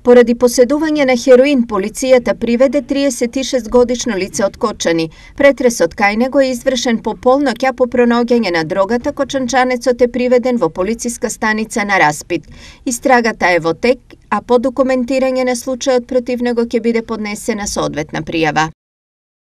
Поради поседување на хероин, полицијата приведе 36-годишно лице од Кочани. Претресот кај него е извршен по полноќ, а по пронаоѓање на дрогата, кочанчанецот е приведен во полициска станица на Распит. Истрагата е во тек, а по документирање на случајот против него ќе биде поднесена соодветна пријава.